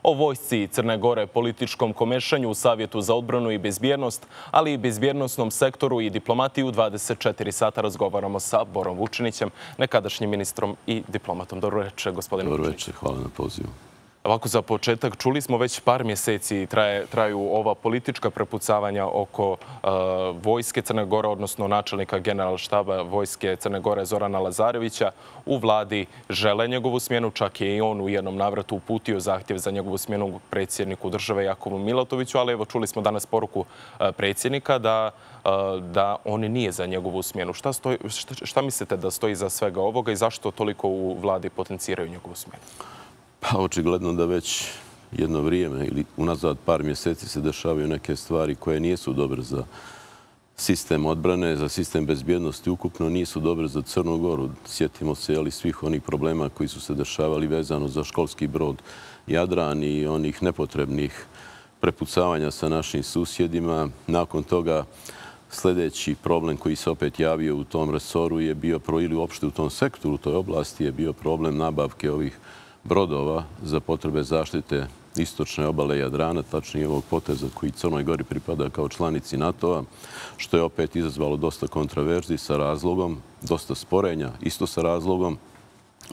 o vojsci Crne Gore, političkom komešanju u Savjetu za odbranu i bezbjednost, ali i bezbjednostnom sektoru i diplomatiju. 24 sata razgovaramo sa Borom Vučinićem, nekadašnjim ministrom i diplomatom. Dobro večer, gospodine Vučinić. Dobro večer, hvala na pozivu. Ovako, za početak, čuli smo već par mjeseci traju ova politička prepucavanja oko vojske Crne Gore, odnosno načelnika generalštaba vojske Crne Gore Zorana Lazarevića. U vladi žele njegovu smjenu, čak je i on u jednom navratu uputio zahtjev za njegovu smjenu predsjedniku države Jakovu Milatoviću, ali evo čuli smo danas poruku predsjednika da on nije za njegovu smjenu. Šta mislite da stoji iza svega ovoga i zašto toliko u vladi potenciraju njegovu smjenu? Pa očigledno da već jedno vrijeme ili unazad par mjeseci se dešavaju neke stvari koje nisu dobre za sistem odbrane, za sistem bezbjednosti ukupno, nisu dobre za Crnu Goru. Sjetimo se svih onih problema koji su se dešavali vezano za školski brod Jadran i onih nepotrebnih prepucavanja sa našim susjedima. Nakon toga sljedeći problem koji se opet javio u tom resoru je bio, ili uopšte u tom sektoru, u toj oblasti je bio problem nabavke ovih brodova za potrebe zaštite istočne obale Jadrana, tačnije ovog poteza koji Crnoj Gori pripada kao članici NATO-a, što je opet izazvalo dosta kontraverzi sa razlogom, dosta sporenja, isto sa razlogom,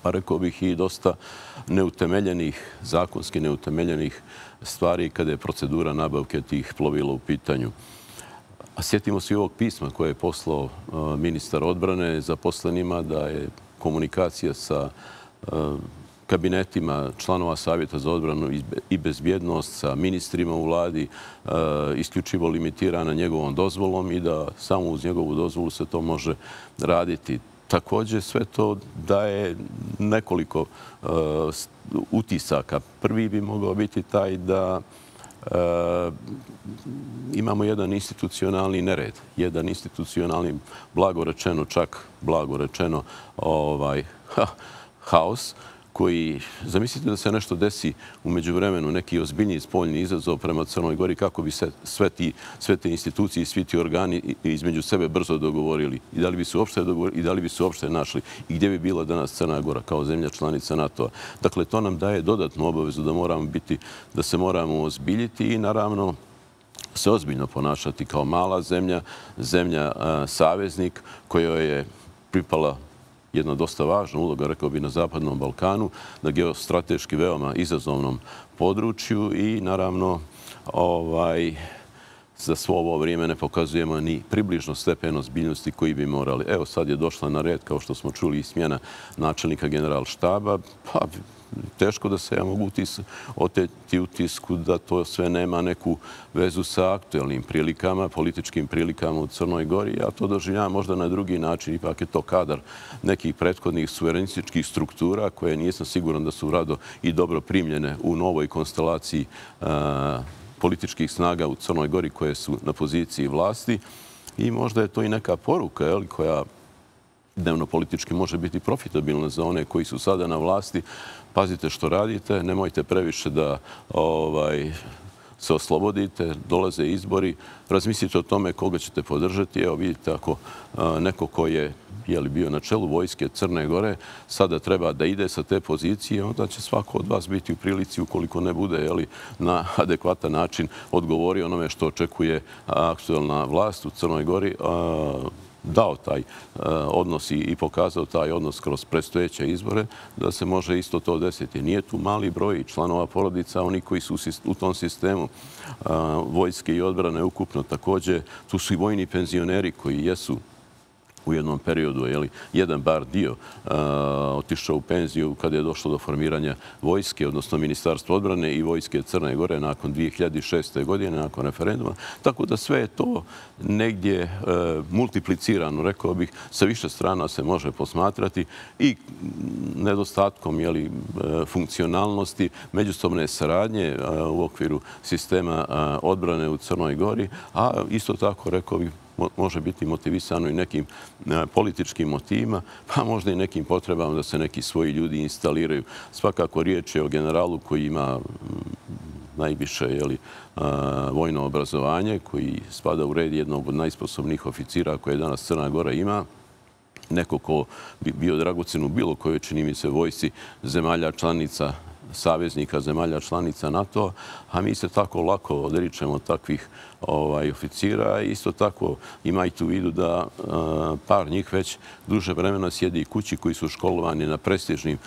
pa rekao bih i dosta neutemeljenih, zakonski neutemeljenih stvari kada je procedura nabavke tih plovila u pitanju. A sjetimo se i ovog pisma koje je poslao ministar odbrane zaposlenima da je komunikacija sa kabinetima članova Savjeta za odbranu i bezbjednost, sa ministrima u vladi, isključivo limitirana njegovom dozvolom i da samo uz njegovu dozvolu se to može raditi. Također sve to daje nekoliko utisaka. Prvi bi mogao biti taj da imamo jedan institucionalni nered, jedan institucionalni, blago rečeno, haos, koji, zamislite da se nešto desi u međuvremenu, neki ozbiljniji spoljni izazov prema Crnoj Gori, kako bi se sve te institucije i svi ti organi između sebe brzo dogovorili i da li bi se uopšte našli i gdje bi bila danas Crna Gora kao zemlja članica NATO-a. Dakle, to nam daje dodatnu obavezu da se moramo ozbiljiti i naravno se ozbiljno ponašati kao mala zemlja saveznik kojoj je pripala jedna dosta važna uloga, rekao bi, na Zapadnom Balkanu, na geostrateški veoma izazovnom području i naravno za svo ovo vrijeme ne pokazujemo ni približno stepen ozbiljnosti koji bi morali. Evo sad je došla na red, kao što smo čuli, i smjena načelnika generalštaba, pa teško da se ja mogu oteti utisku da to sve nema neku vezu sa aktuelnim prilikama, političkim prilikama u Crnoj Gori. Ja to doživljavam možda na drugi način. Ipak je to kadar nekih prethodnih suverenističkih struktura koje nisam siguran da su rado i dobro primljene u novoj konstelaciji političkih snaga u Crnoj Gori koje su na poziciji vlasti. I možda je to i neka poruka koja dnevno politički može biti profitabilna za one koji su sada na vlasti. Pazite što radite, nemojte previše da se oslobodite, dolaze izbori, razmislite o tome koga ćete podržati. Evo vidite, ako neko ko je bio na čelu vojske Crne Gore sada treba da ide sa te pozicije, onda će svako od vas biti u prilici, ukoliko ne bude na adekvatan način odgovorio onome što očekuje aktuelna vlast u Crnoj Gori, dao taj odnos i pokazao taj odnos kroz predstojeće izbore, da se može isto to desiti. Nije tu mali broj članova porodica, oni koji su u tom sistemu vojske i odbrane ukupno. Također, tu su i vojni penzioneri koji jesu u jednom periodu, jedan bar dio otišao u penziju kada je došlo do formiranja vojske, odnosno Ministarstva odbrane i vojske Crne Gore nakon 2006. godine, nakon referenduma. Tako da sve je to negdje multiplicirano, rekao bih, sa više strana se može posmatrati i nedostatkom funkcionalnosti, međusobne saradnje u okviru sistema odbrane u Crnoj Gori, a isto tako, rekao bih, može biti motivisano i nekim političkim motivima, pa možda i nekim potrebama da se neki svoji ljudi instaliraju. Svakako riječ je o generalu koji ima najviše vojno obrazovanje, koji spada u red jednog od najsposobnijih oficira koje danas Crna Gora ima. Neko ko bi bio dragocen u bilo kojoj, čini mi se, vojsci zemalja članica saveznika zemalja članica NATO, a mi se tako lako odričemo takvih oficira. Isto tako imajte u vidu da par njih već duže vremena sjedi kući koji su školovani na prestižnim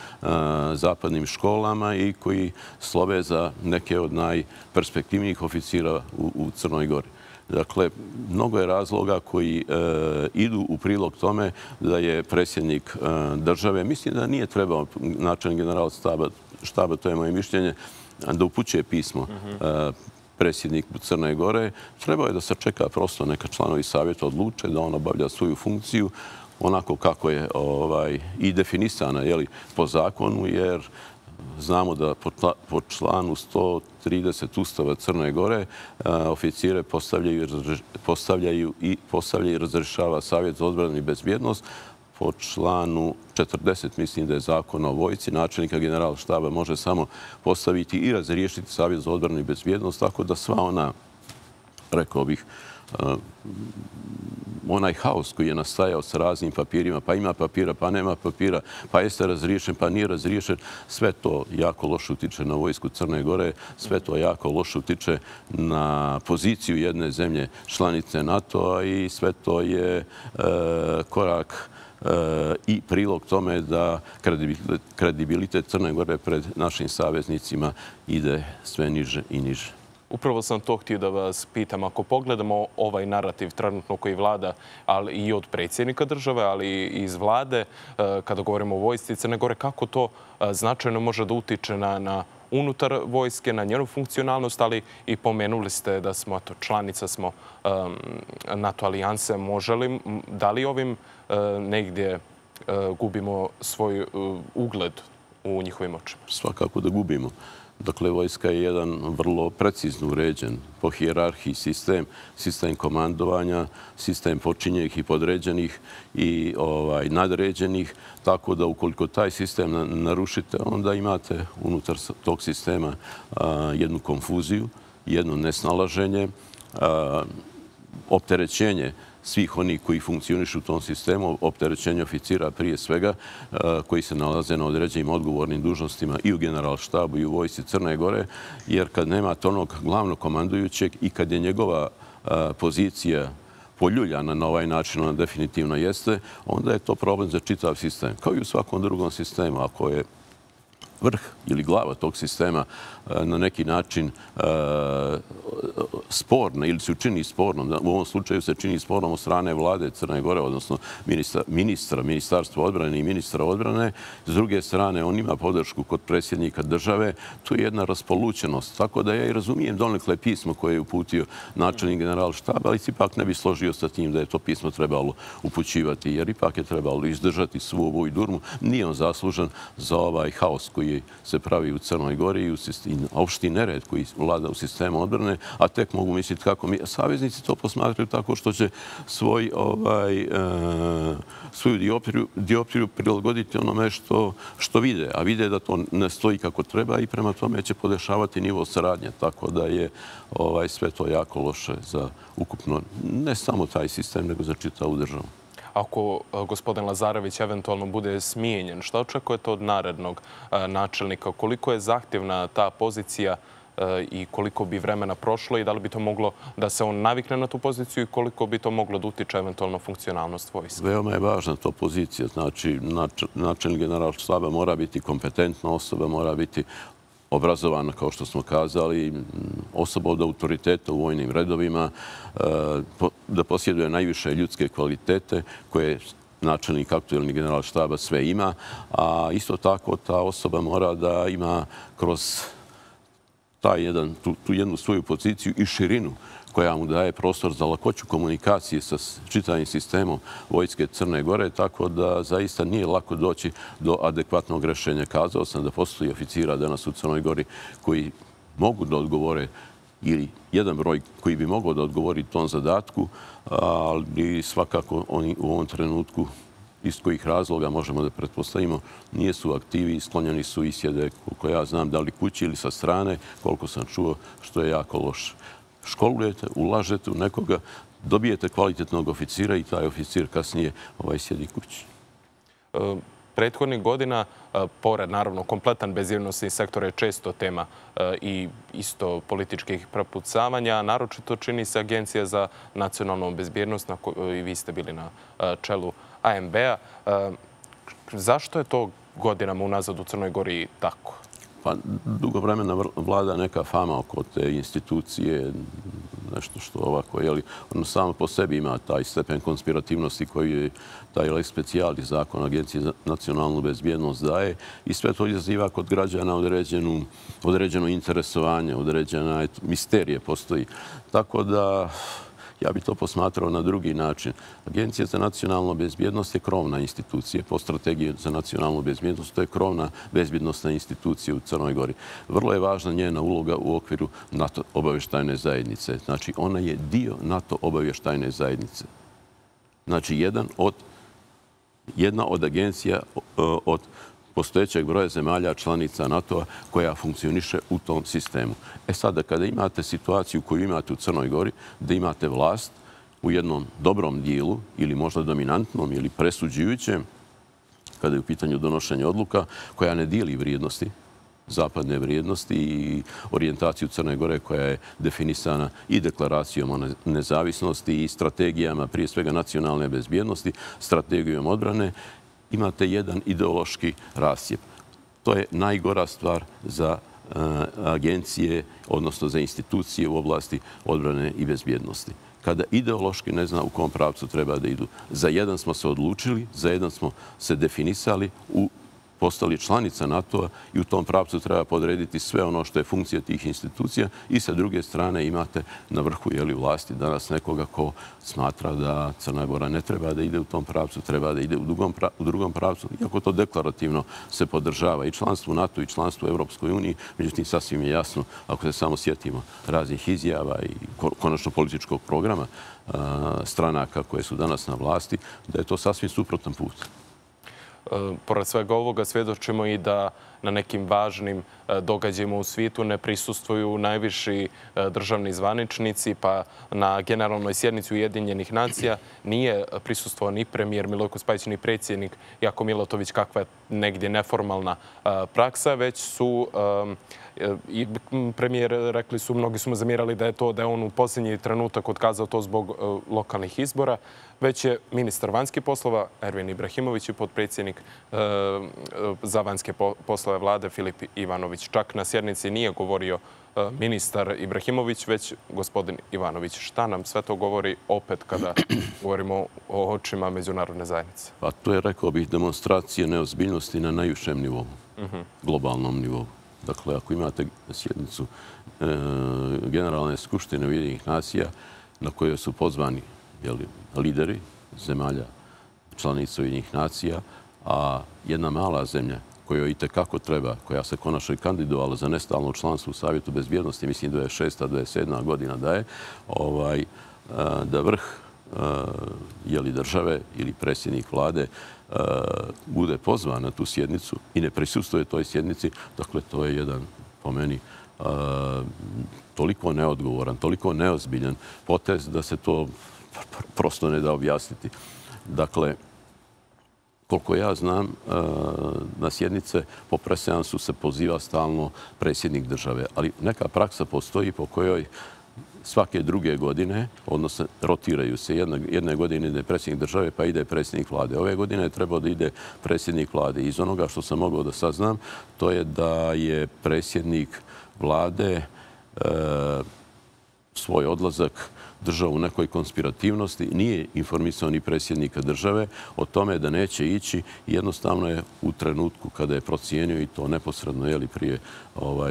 zapadnim školama i koji slove za neke od najperspektivnijih oficira u Crnoj Gori. Dakle, mnogo je razloga koji idu u prilog tome da je predsjednik države, mislim da nije trebao načelnik general štaba, to je moje mišljenje, da upućuje pismo predsjedniku Crne Gore. Trebao je da se čeka prosto neka članovi savjeta odluče da on obavlja svoju funkciju onako kako je i definisana po zakonu, jer znamo da po članu 130 Ustava Crne Gore oficire postavljaju i razrješava Savjet za odbranu i bezbjednost. Po članu 40, mislim da je zakon o vojsci, načelnika general štaba može samo postaviti i razriješiti Savjet za odbranu i bezbjednost, tako da sva ona, rekao bih, onaj haos koji je nastajao sa raznim papirima, pa ima papira, pa nema papira, pa jeste razriješen, pa nije razriješen, sve to jako loše utiče na vojsku Crne Gore, sve to jako loše utiče na poziciju jedne zemlje članice NATO-a i sve to je korak i prilog tome da kredibilitet Crne Gore pred našim saveznicima ide sve niže i niže. Upravo sam to htio da vas pitam. Ako pogledamo ovaj narativ trenutno koji vlada, ali i od predsjednika države, ali i iz vlade, kada govorimo o vojsci Crne Gore, kako to značajno može da utiče na unutar vojske, na njenu funkcionalnost, ali i pomenuli ste da smo članica smo NATO alijanse. Da li ovim negdje gubimo svoj ugled u njihovim očima? Svakako da gubimo. Dakle, vojska je jedan vrlo precizno uređen po hijerarhiji sistem komandovanja, sistem počinjenih i podređenih i nadređenih, tako da ukoliko taj sistem narušite, onda imate unutar tog sistema jednu konfuziju, jedno nesnalaženje, opterećenje svih onih koji funkcionišu u tom sistemu, opterećenje oficira prije svega, koji se nalaze na određenim odgovornim dužnostima i u generalštabu i u vojsci Crne Gore, jer kad nemate onog glavnog komandujućeg i kad je njegova pozicija poljuljana na ovaj način, ona definitivno jeste, onda je to problem za čitav sistem. Kao i u svakom drugom sistemu, ako je vrh ili glava tog sistema na neki način sporna ili se učini spornom. U ovom slučaju se čini spornom od strane vlade Crne Gore, odnosno ministarstva odbrane i ministra odbrane. S druge strane, on ima podršku kod predsjednika države. Tu je jedna raspolućenost. Tako da ja i razumijem donekle pismo koje je uputio načelnik general štaba, ali ipak ne bi složio sa tim da je to pismo trebalo upućivati, jer ipak je trebalo izdržati svu ovu durmu. Nije on zaslužan za ovaj haos koji se pravi u Crnoj Gori i opšti nered koji vlada u sistemu odbrane, a tek mogu misliti kako mi. Saveznici to posmatraju tako što će svoju dioptriju prilagoditi onome što vide, a vide da to ne stoji kako treba i prema tome će podešavati nivo saradnje. Tako da je sve to jako loše za ukupno, ne samo taj sistem, nego za čitavu državu. Ako gospodin Lazarević eventualno bude smijenjen, šta očekujete od narednog načelnika? Koliko je zahtjevna ta pozicija i koliko bi vremena prošlo i da li bi to moglo da se on navikne na tu poziciju i koliko bi to moglo da utiče eventualno funkcionalnost vojske? Veoma je važna to pozicija. Znači, načelnik general štaba mora biti kompetentna osoba, mora biti obrazovana, kao što smo kazali, osoba od autoriteta u vojnim redovima, da posjeduje najviše ljudske kvalitete koje načelnik aktuelni general štaba sve ima, a isto tako ta osoba mora da ima kroz tu jednu svoju poziciju i širinu koja mu daje prostor za lakoću komunikacije sa čitavim sistemom vojske Crne Gore, tako da zaista nije lako doći do adekvatnog rješenja. Kazao sam da postoji oficira danas u Crnoj Gori koji mogu da odgovore ili jedan broj koji bi mogao da odgovori tom zadatku, ali svakako oni u ovom trenutku iz kojih razloga možemo da pretpostavimo, nisu aktivi, sklonjeni su i sjede, koliko ja znam, da li kući ili sa strane, koliko sam čuo, što je jako loše. Školujete, ulažete u nekoga, dobijete kvalitetnog oficira i taj oficir kasnije sjedi kući. prethodnih godina, pored naravno kompletan bezbjednosni sektor je često tema i isto političkih prepucavanja, naročito čini se Agencija za nacionalnu bezbjednost i vi ste bili na čelu ANB-a. Zašto je to godinama unazad u Crnoj Gori tako? Pa dugo vremena vlada neka fama oko te institucije, nešto što ovako, ono samo po sebi ima taj stepen konspirativnosti koji je taj lex specialis zakon Agencije za nacionalnu bezbjednost daje i sve to izaziva kod građana određeno interesovanje, određena misterije postoji. Tako da ja bih to posmatrao na drugi način. Agencija za nacionalnu bezbjednost je krovna institucija. Po strategiji za nacionalnu bezbjednost to je krovna bezbjednostna institucija u Crnoj Gori. Vrlo je važna njena uloga u okviru NATO obavještajne zajednice. Znači, ona je dio NATO obavještajne zajednice. Znači, jedna od agencija od postojećeg broja zemalja članica NATO-a koja funkcioniše u tom sistemu. Sada, kada imate situaciju koju imate u Crnoj Gori, da imate vlast u jednom dobrom dijelu ili možda dominantnom ili presuđujućem, kada je u pitanju donošenja odluka, koja ne dijeli vrijednosti, zapadne vrijednosti i orijentaciju Crne Gore koja je definisana i deklaracijom o nezavisnosti i strategijama, prije svega nacionalne bezbjednosti, strategijom odbrane, imate jedan ideološki rascjep. To je najgora stvar za agencije, odnosno za institucije u oblasti odbrane i bezbjednosti. Kada ideološki ne zna u kom pravcu treba da idu. Za jedan smo se odlučili, za jedan smo se definisali, postali članica NATO-a i u tom pravcu treba podrediti sve ono što je funkcija tih institucija i sa druge strane imate na vrhu vlasti danas nekoga ko smatra da Crna Gora ne treba da ide u tom pravcu, treba da ide u drugom pravcu, iako to deklarativno se podržava i članstvo u NATO i članstvo u Europskoj uniji. Međutim, sasvim je jasno, ako se samo sjetimo raznih izjava i konačno političkog programa stranaka koje su danas na vlasti, da je to sasvim suprotan put. Pored svega ovoga svjedočimo i da na nekim važnim događajima u svijetu ne prisustvuju najviši državni zvaničnici, pa na generalnoj sjednici Ujedinjenih nacija nije prisustvovao ni premijer Milojko Spajić, ni predsjednik Jako Milatović, kakva je negdje neformalna praksa, već su i premijer, rekli su, mnogi su mu zamjerali da je on u posljednji trenutak otkazao to zbog lokalnih izbora, već je ministar vanjskih poslova Ervin Ibrahimović i potpredsjednik za vanjske poslove vlade Filip Ivanović. Čak na sjednici nije govorio ministar Ibrahimović, već gospodin Ivanović. Šta nam sve to govori opet kada govorimo o očima međunarodne zajednice? Pa to je, rekao bih, demonstracija neozbiljnosti na najvišem nivou, globalnom nivou. Dakle, ako imate sjednicu Generalne skupštine Ujedinjenih nacija na kojoj su pozvani lideri zemalja članica Ujedinjenih nacija, a jedna mala zemlja kojoj i tekako treba, koja se konačno i kandidovala za nestalno članstvo u Savjetu bezbjednosti, mislim 26. 27. godina daje, da vrh države ili predsjednik vlade bude pozvan na tu sjednicu i ne prisustuje toj sjednici, dakle, to je jedan, po meni, toliko neodgovoran, toliko neozbiljan potez da se to prosto ne da objasniti. Dakle, koliko ja znam, na sjednice po preseansu se poziva stalno predsjednik države, ali neka praksa postoji po kojoj svake druge godine, odnosno rotiraju se. Jedne godine ide predsjednik države, pa ide predsjednik vlade. Ove godine je trebao da ide predsjednik vlade. Iz onoga što sam mogao da saznam, to je da je predsjednik vlade svoj odlazak držao u nekoj konspirativnosti, nije informisao ni predsjednika države o tome da neće ići. Jednostavno je u trenutku kada je procijenio i to neposredno prije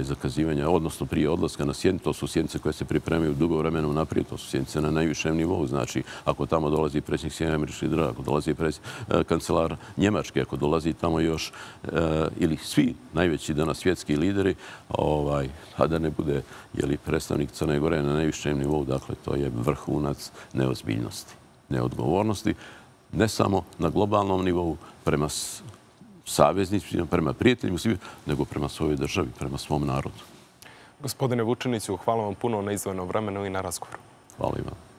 zakazivanja, odnosno prije odlaska na sjednicu, to su sjednice koje se pripremaju dugo vremena unaprijed, to su sjednice na najvišem nivou. Znači, ako tamo dolazi predsjednik Sjedinjenih Američkih Država, ako dolazi kancelar Njemačke, ako dolazi tamo još ili svi najveći danas svjetski lideri, a da ne bude predstavnik Crne Gore na najvišem nivou, dakle, to je vrhunac neozbiljnosti, neodgovornosti, ne samo na globalnom nivou, prema saveznicima, prema prijateljima, nego prema svojoj državi, prema svom narodu. Gospodine Vučiniću, hvala vam puno na izdvojenom vremenu i na razgovoru. Hvala i vam.